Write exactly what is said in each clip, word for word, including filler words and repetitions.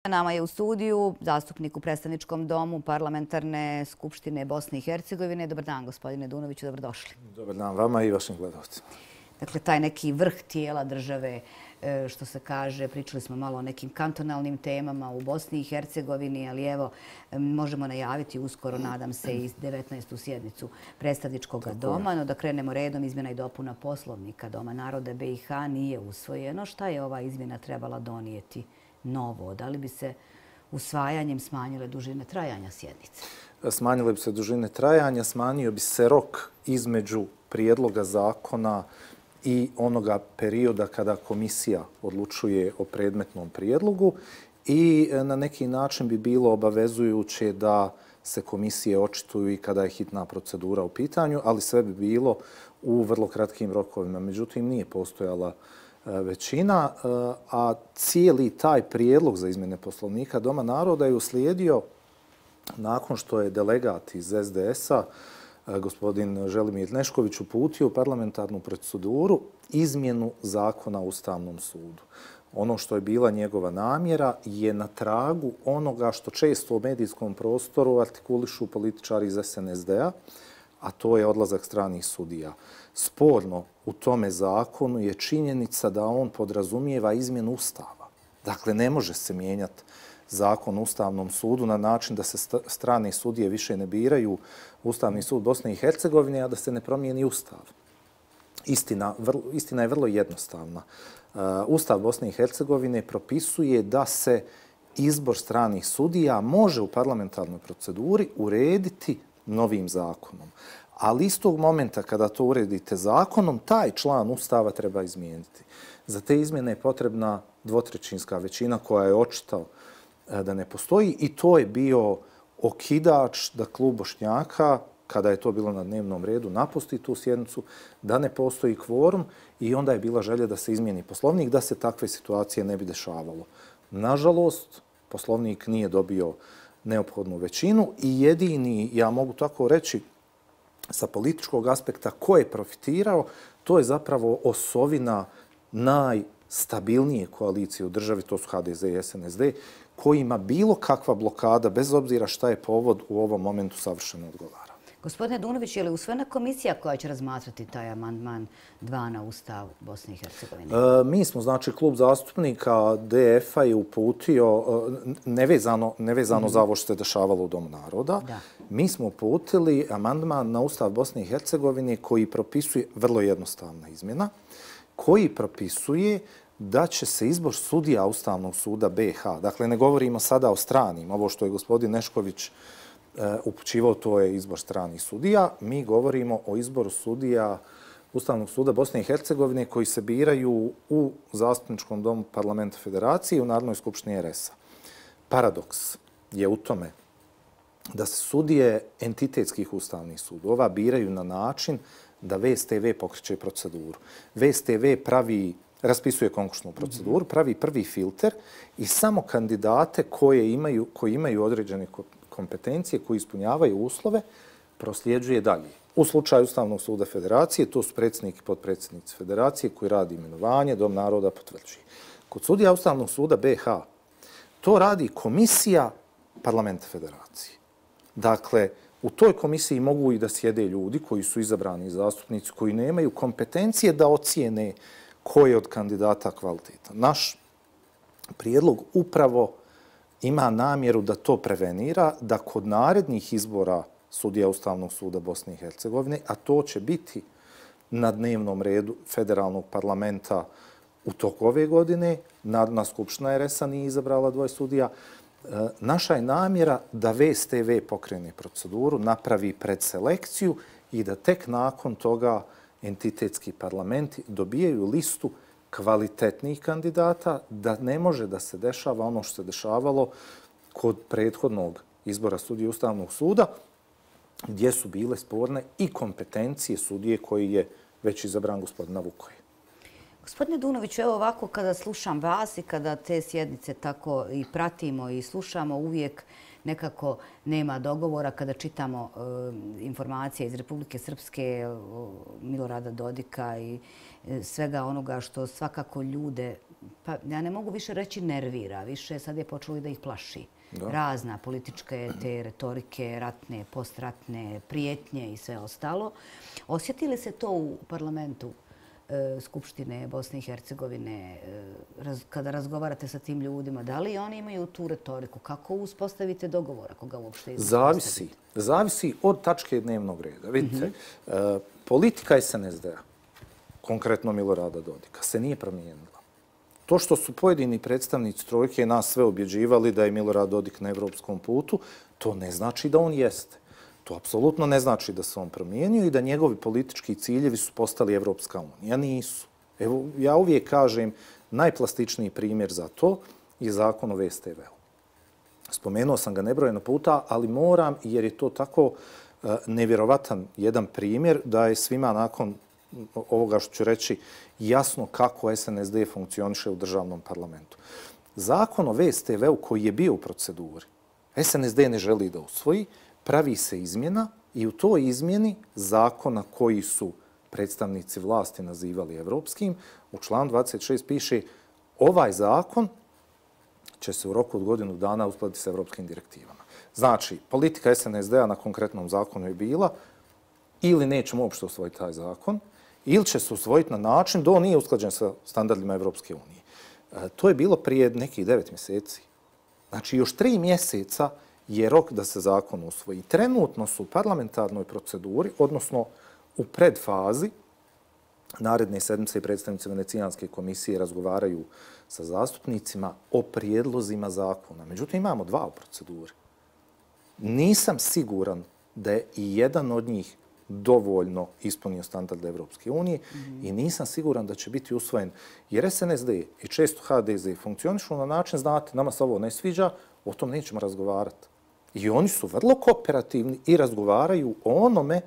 Nama je u studiju zastupnik u predstavničkom domu Parlamentarne skupštine Bosne i Hercegovine. Dobar dan, gospodine Dunoviću, dobrodošli. Dobar dan vama i vašim gledalcima. Dakle, taj neki vrh tijela države, što se kaže, pričali smo malo o nekim kantonalnim temama u Bosni i Hercegovini, ali evo, možemo najaviti uskoro, nadam se, i devetnaestu sjednicu predstavničkog doma. No da krenemo redom, izmjena i dopuna poslovnika Doma naroda B i H nije usvojeno. Šta je ova izmjena trebala donijeti novo? Da li bi se usvajanjem smanjile dužine trajanja sjednice? Smanjile bi se dužine trajanja, smanjio bi se rok između prijedloga zakona i onoga perioda kada komisija odlučuje o predmetnom prijedlogu i na neki način bi bilo obavezujuće da se komisije očituju i kada je hitna procedura u pitanju, ali sve bi bilo u vrlo kratkim rokovima. Međutim, nije postojala većina, a cijeli taj prijedlog za izmjene poslovnika Doma naroda je uslijedio nakon što je delegat iz S D S-a, gospodin Želimir Nešković, uputio u parlamentarnu proceduru izmjenu zakona o Ustavnom sudu. Ono što je bila njegova namjera je na tragu onoga što često u medijskom prostoru artikulišu političari iz S N S D-a, a to je odlazak stranih sudija. Sporno u tome zakonu je činjenica da on podrazumijeva izmjenu Ustava. Dakle, ne može se mijenjati zakon o Ustavnom sudu na način da se strane sudije više ne biraju Ustavni sud Bosne i Hercegovine, a da se ne promijeni Ustav. Istina, vrlo, istina je vrlo jednostavna. Uh, Ustav Bosne i Hercegovine propisuje da se izbor stranih sudija može u parlamentarnoj proceduri urediti novim zakonom. Ali istog momenta kada to uredite zakonom, taj član Ustava treba izmijeniti. Za te izmjene je potrebna dvotrećinska većina koja je očito da ne postoji i to je bio okidač da klub Bošnjaka, kada je to bilo na dnevnom redu, napusti tu sjednicu, da ne postoji kvorum i onda je bila želja da se izmijeni poslovnik, da se takve situacije ne bi dešavalo. Nažalost, poslovnik nije dobio neophodnu većinu i jedini, ja mogu tako reći, sa političkog aspekta ko je profitirao, to je zapravo osovina najstabilnije koalicije u državi, to su H D Z i S N S D, kojima bilo kakva blokada, bez obzira šta je povod, u ovom momentu savršeno odgovara. Gospodine Dunović, je li usvojena komisija koja će razmatrati taj amandman dva na Ustav Bosne i Hercegovine? E, mi smo, znači, klub zastupnika D F-a je uputio, nevezano, nevezano mm-hmm. za ovo što se dešavalo u Domu naroda, da. Mi smo uputili amandman na Ustav Bosne i Hercegovine koji propisuje, vrlo jednostavna izmjena, koji propisuje da će se izbor sudija Ustavnog suda B H, dakle ne govorimo sada o stranim, ovo što je gospodin Nešković upućivao, to je izbor stranih sudija. Mi govorimo o izboru sudija Ustavnog suda Bosne i Hercegovine koji se biraju u Zastupničkom domu Parlamenta Federacije i u Narodnoj skupštini R S-a. Paradoks je u tome da se sudije entitetskih ustavnih sudova biraju na način da V S T V pokreće proceduru. V S T V pravi, raspisuje konkursnu proceduru, pravi prvi filter i samo kandidate koje imaju, koji imaju određene kompetencije, koji ispunjavaju uslove, prosljeđuje dalje. U slučaju Ustavnog suda Federacije, to su predsjednik i potpredsjednici Federacije koji radi imenovanje, Dom naroda potvrđuje. Kod sudija Ustavnog suda B H to radi komisija Parlamenta Federacije. Dakle, u toj komisiji mogu i da sjede ljudi koji su izabrani zastupnici, koji nemaju kompetencije da ocijene ko je od kandidata kvalitetan. Naš prijedlog upravo ima namjeru da to prevenira, da kod narednih izbora sudija Ustavnog suda Bosne i Hercegovine, a to će biti na dnevnom redu federalnog parlamenta u toku ove godine, Narodna skupština R S-a nije izabrala dvoje sudija, naša je namjera da V S T V pokrene proceduru, napravi predselekciju i da tek nakon toga entitetski parlamenti dobijaju listu kvalitetnih kandidata, da ne može da se dešava ono što se dešavalo kod prethodnog izbora sudije Ustavnog suda, gdje su bile sporne i kompetencije sudije koji je već izabran gospodina Vukoje. Gospodine Dunoviću, evo ovako kada slušam vas i kada te sjednice tako i pratimo i slušamo, uvijek nekako nema dogovora. Kada čitamo informacije iz Republike Srpske, Milorada Dodika i svega onoga što svakako ljude, pa ja ne mogu više reći nervira, više sad je počelo i da ih plaši. Da. Razna političke te retorike, ratne, postratne, prijetnje i sve ostalo. Osjeti li se to u parlamentu Skupštine Bosne i Hercegovine, kada razgovarate sa tim ljudima, da li oni imaju tu retoriku? Kako uspostavite dogovor, ako ga uopšte uspostavite? Zavisi. Zavisi od tačke dnevnog reda. Vidite, mm-hmm. politika es en es de a, konkretno Milorada Dodika, se nije promijenila. To što su pojedini predstavnici trojke nas sve objeđivali da je Milorad Dodik na evropskom putu, to ne znači da on jeste. To apsolutno ne znači da se on promijenio i da njegovi politički ciljevi su postali Evropska unija. Nisu. Evo, ja uvijek kažem, najplastičniji primjer za to je zakon o ve es te ve u. Spomenuo sam ga nebrojeno puta, ali moram, jer je to tako uh, nevjerovatan jedan primjer da je svima nakon ovoga što ću reći jasno kako es en es de funkcioniše u državnom parlamentu. Zakon o ve es te ve u koji je bio u proceduri, es en es de ne želi da usvoji, pravi se izmjena i u toj izmjeni zakona koji su predstavnici vlasti nazivali evropskim, u članu dvadeset šest piše ovaj zakon će se u roku od godinu dana uskladiti s evropskim direktivama. Znači, politika es en es de a na konkretnom zakonu je bila ili nećemo uopšte usvojiti taj zakon, ili će se usvojiti na način da on nije usklađen sa standardima Evropske unije. E, to je bilo prije nekih devet mjeseci. Znači, još tri mjeseca je rok da se zakon usvoji. Trenutno su u parlamentarnoj proceduri, odnosno u predfazi, naredne sedmice i predstavnici Venecijanske komisije razgovaraju sa zastupnicima o prijedlozima zakona. Međutim, imamo dva u proceduri. Nisam siguran da je i jedan od njih dovoljno ispunio standard Evropske unije mm-hmm. i nisam siguran da će biti usvojen. Jer es en es de i često ha de ze funkcionišu na način, znate, nama se ovo ne sviđa, o tom nećemo razgovarati. I oni su vrlo kooperativni i razgovaraju o onome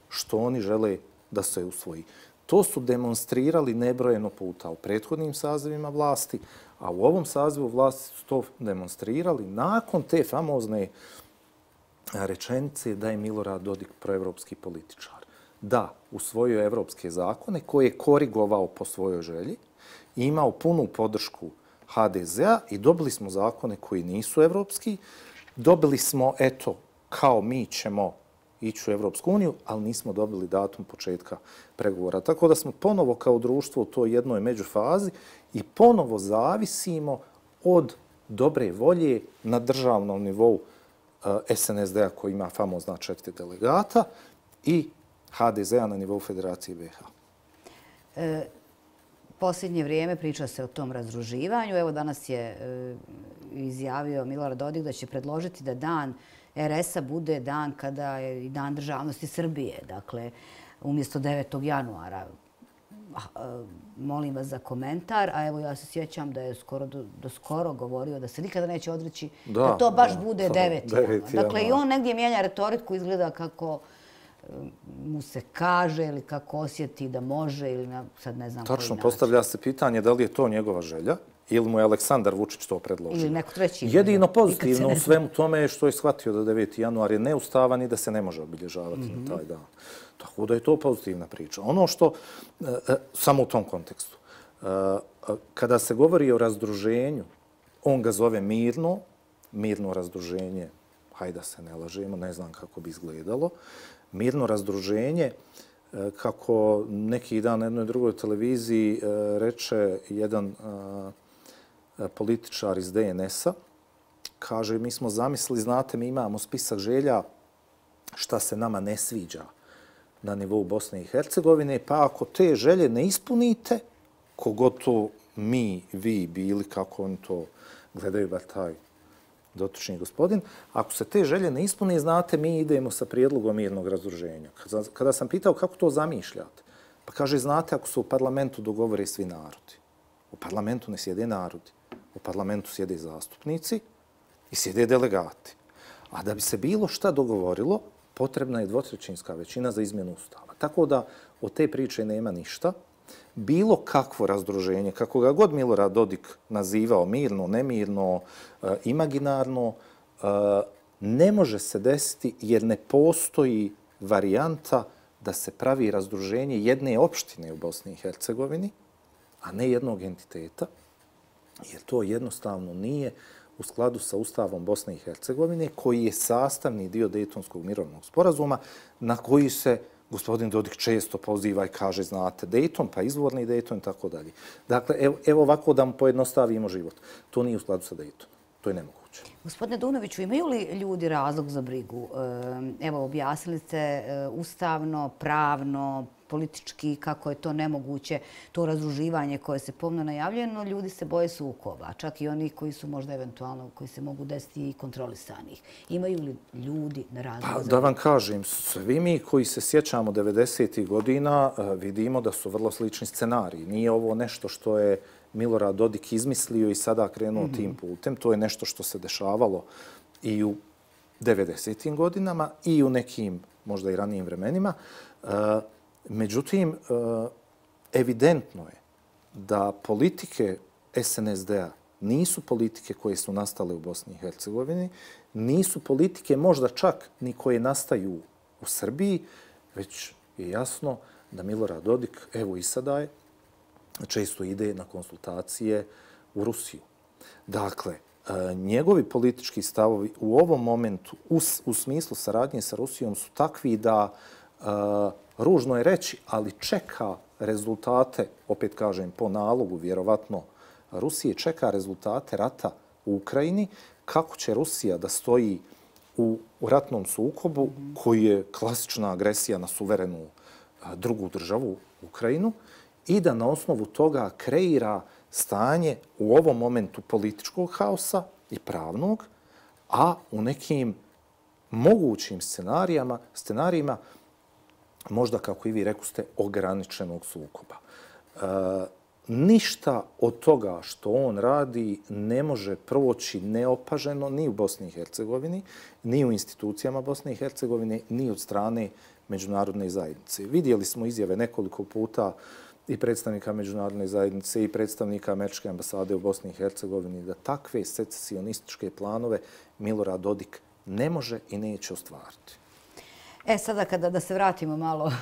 što oni žele da se usvoji. To su demonstrirali nebrojeno puta u prethodnim sazivima vlasti, a u ovom sazivu vlasti su to demonstrirali nakon te famozne rečenice da je Milorad Dodik proevropski političar. Da, usvojio je evropske zakone koje je korigovao po svojoj želji, imao punu podršku ha de ze a i dobili smo zakone koji nisu evropski. Dobili smo, eto, kao mi ćemo ići u Evropsku uniju, ali nismo dobili datum početka pregovora. Tako da smo ponovo kao društvo u toj jednoj međufazi i ponovo zavisimo od dobre volje na državnom nivou es en es de a koji ima famozna četiri delegata i ha de ze a na nivou Federacije be ha. E, posljednje vrijeme priča se o tom razdruživanju. Evo danas je e, izjavio Milorad Dodik da će predložiti da dan er es a bude dan kada je i dan državnosti Srbije. Dakle, umjesto devetog januara. Molim vas za komentar, a evo ja se sjećam da je skoro do, do skoro govorio da se nikada neće odreći da, da to baš da, bude deveti januar. Dakle, i on negdje mijenja retoriku, izgleda kako mu se kaže ili kako osjeti da može ili na, sad ne znam koji način. Tačno, postavlja se pitanje da li je to njegova želja ili mu je Aleksandar Vučić to predložio. Ili neko treći. Jedino pozitivno u svemu tome je što je shvatio da deveti januar je neustavan i da se ne može obilježavati mm-hmm. na taj dan. Tako da je to pozitivna priča. Ono što, e, samo u tom kontekstu, e, kada se govori o razdruženju, on ga zove mirno, mirno razdruženje, hajde da se ne lažemo, ne znam kako bi izgledalo, mirno razdruženje, e, kako neki dan na jednoj drugoj televiziji e, reče jedan e, političar iz de en es a, kaže, mi smo zamislili, znate, mi imamo spisak želja šta se nama ne sviđa na nivou Bosne i Hercegovine, pa ako te želje ne ispunite, kogod to mi, vi bili, kako oni to gledaju, bar taj dotični gospodin, ako se te želje ne ispune, znate, mi idemo sa prijedlogom mirnog razdruženja. Kada sam pitao kako to zamišljate, pa kaže, znate, ako se u parlamentu dogovore svi narodi. U parlamentu ne sjede narodi. U parlamentu sjede zastupnici i sjede delegati. A da bi se bilo šta dogovorilo, potrebna je dvotrećinska većina za izmjenu ustava. Tako da od te priče nema ništa. Bilo kakvo razdruženje, kako ga god Milorad Dodik nazivao, mirno, nemirno, imaginarno, ne može se desiti jer ne postoji varijanta da se pravi razdruženje jedne opštine u Bosni i Hercegovini, a ne jednog entiteta, jer to jednostavno nije u skladu sa Ustavom Bosne i Hercegovine, koji je sastavni dio Dejtonskog mirovnog sporazuma, na koji se gospodin Dodik često poziva i kaže, znate, Dejton, pa izvorni Dejton i tako dalje. Dakle, evo, evo ovako da mu pojednostavimo život. To nije u skladu sa Dejtonom. To je nemoguće. Gospodine Dunoviću, imaju li ljudi razlog za brigu? Evo, objasnili ste ustavno, pravno, politički, kako je to nemoguće, to razdruživanje koje se pomno najavljuje, no ljudi se boje sukoba, čak i oni koji su možda eventualno, koji se mogu desiti i kontrolisanih. Imaju li ljudi na razlog za brigu? Da vam kažem, svi mi koji se sjećamo devedesetih godina vidimo da su vrlo slični scenariji. Nije ovo nešto što je Milorad Dodik izmislio i sada krenuo mm-hmm. tim putem. To je nešto što se dešavalo i u devedesetim godinama i u nekim možda i ranijim vremenima. Međutim, evidentno je da politike S N S D-a nisu politike koje su nastale u Bosni i Hercegovini, nisu politike možda čak ni koje nastaju u Srbiji, već je jasno da Milorad Dodik, evo i sada je, često ide na konsultacije u Rusiju. Dakle, njegovi politički stavovi u ovom momentu u, u smislu saradnje sa Rusijom su takvi da, ružno je reći, ali čeka rezultate, opet kažem, po nalogu, vjerovatno, Rusije čeka rezultate rata u Ukrajini, kako će Rusija da stoji u, u ratnom sukobu koji je klasična agresija na suverenu drugu državu, Ukrajinu, i da na osnovu toga kreira stanje u ovom momentu političkog haosa i pravnog, a u nekim mogućim scenarijama, scenarijima možda, kako i vi rekuste, ograničenog sukoba. E, ništa od toga što on radi ne može proći neopaženo ni u Bosni i Hercegovini, ni u institucijama Bosne i Hercegovine, ni od strane međunarodne zajednice. Vidjeli smo izjave nekoliko puta i predstavnika međunarodne zajednice i predstavnika Američke ambasade u Bosni i Hercegovini da takve secesionističke planove Milorad Dodik ne može i neće ostvariti. E, sada kada da se vratimo malo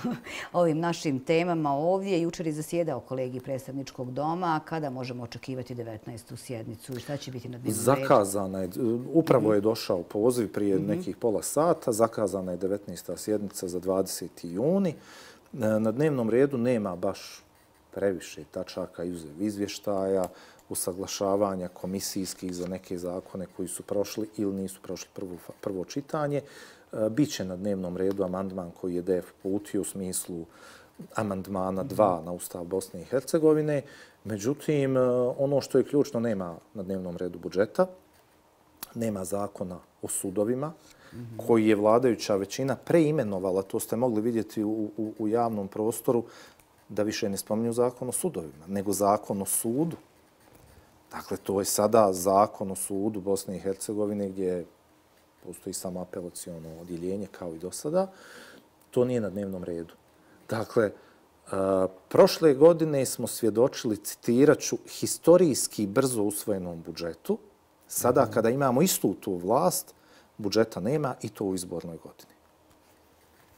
ovim našim temama ovdje, jučer je zasjedao kolegi predstavničkog doma, kada možemo očekivati devetnaestu sjednicu i šta će biti na dnevnom redu? Zakazana je, upravo je došao poziv prije nekih pola sata, zakazana je devetnaesta sjednica za dvadeseti juni. Na dnevnom redu nema baš previše tačaka izuzev izvještaja, usaglašavanja komisijskih za neke zakone koji su prošli ili nisu prošli prvo, prvo čitanje. Biće na dnevnom redu amandman koji je D F uputio u smislu amandmana dva na Ustav Bosne i Hercegovine. Međutim, ono što je ključno, nema na dnevnom redu budžeta, nema zakona o sudovima, koji je vladajuća većina preimenovala, to ste mogli vidjeti u, u, u javnom prostoru, da više ne spominju zakon o sudovima, nego zakon o sudu. Dakle, to je sada zakon o sudu Bosne i Hercegovine gdje postoji samo apelaciono odjeljenje kao i do sada. To nije na dnevnom redu. Dakle, prošle godine smo svjedočili, citirat ću, historijski brzo usvojenom budžetu. Sada kada imamo istu tu vlast, budžeta nema i to u izbornoj godini.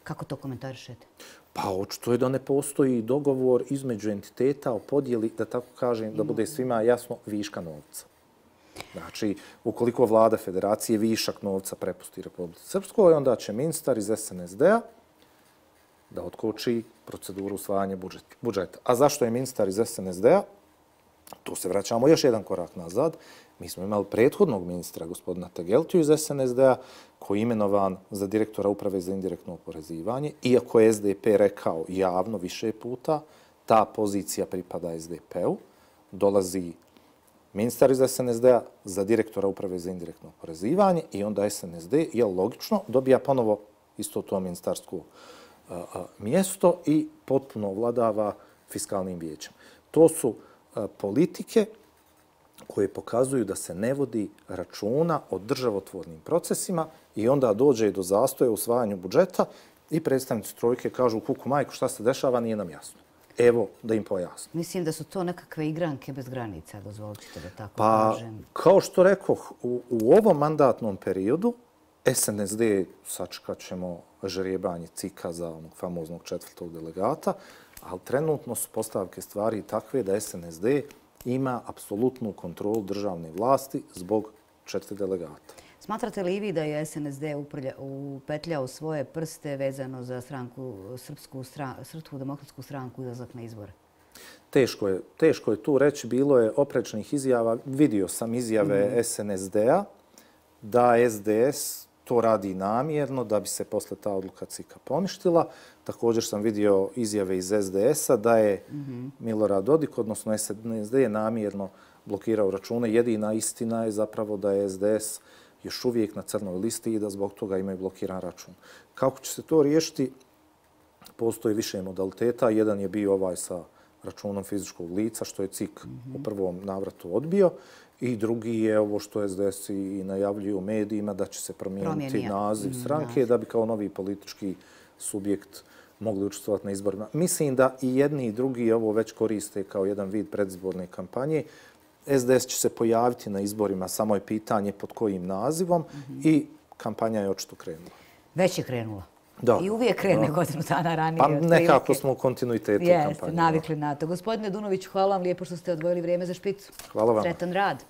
Kako to komentarišete? Pa očito je da ne postoji dogovor između entiteta o podjeli, da tako kažem, da bude svima jasno, viška novca. Znači, ukoliko vlada federacije višak novca prepusti Republici Srpskoj, onda će ministar iz S N S D-a da otkoči proceduru usvajanja budžeta. A zašto je ministar iz S N S D-a? Tu se vraćamo još jedan korak nazad. Mi smo imali prethodnog ministra, gospodina Tegeltiju iz S N S D-a, koji je imenovan za direktora Uprave za indirektno oporezivanje. Iako je S D P rekao javno više puta, ta pozicija pripada S D P-u. Dolazi ministar iz S N S D-a za direktora Uprave za indirektno oporezivanje i onda S N S D, je logično, dobija ponovo isto to ministarsko a, a, mjesto i potpuno vladava fiskalnim vijećem. To su a, politike koje pokazuju da se ne vodi računa o državotvornim procesima i onda dođe do zastoja u usvajanju budžeta i predstavnici trojke kažu kuku majku šta se dešava, nije nam jasno. Evo, da im pojasnim. Mislim da su to nekakve igranke bez granica, dozvolite da tako pa, kažem. Kao što rekoh, u, u ovom mandatnom periodu S N S D sačekat ćemo žrijebanje cika za onog famoznog četvrtog delegata, ali trenutno su postavke stvari takve da S N S D ima apsolutnu kontrolu državne vlasti zbog četiri delegata. Smatrate li i vi da je S N S D upetljao svoje prste vezano za stranku, Srpsku, Srpsku demokratsku stranku i izlazak na izbore? Teško je, teško je tu reći. Bilo je oprečnih izjava. Vidio sam izjave mm. S N S D-a da S D S to radi namjerno da bi se posle ta odluka cika poništila. Također sam vidio izjave iz S D S-a da je mm-hmm. Milorad Dodik, odnosno S N S D, je namjerno blokirao račune. Jedina istina je zapravo da je S D S još uvijek na crnoj listi i da zbog toga imaju blokiran račun. Kako će se to riješiti? Postoji više modaliteta. Jedan je bio ovaj sa računom fizičkog lica, što je cik mm-hmm. u prvom navratu odbio. I drugi je ovo što S D S i najavljuje u medijima, da će se promijeniti Promijenija. naziv stranke, da bi kao novi politički subjekt mogli učestvovati na izborima. Mislim da i jedni i drugi ovo već koriste kao jedan vid predizborne kampanje. S D S će se pojaviti na izborima, samo je pitanje pod kojim nazivom mm-hmm. i kampanja je očito krenula. Već je krenula. Da, I uvijek krene da. godinu dana ranije. Pa nekako smo u kontinuitetu Jeste, kampanje. navikli na to. Gospodine Dunović, hvala vam lijepo što ste odvojili vrijeme za špicu. Hvala vam. Sretan rad.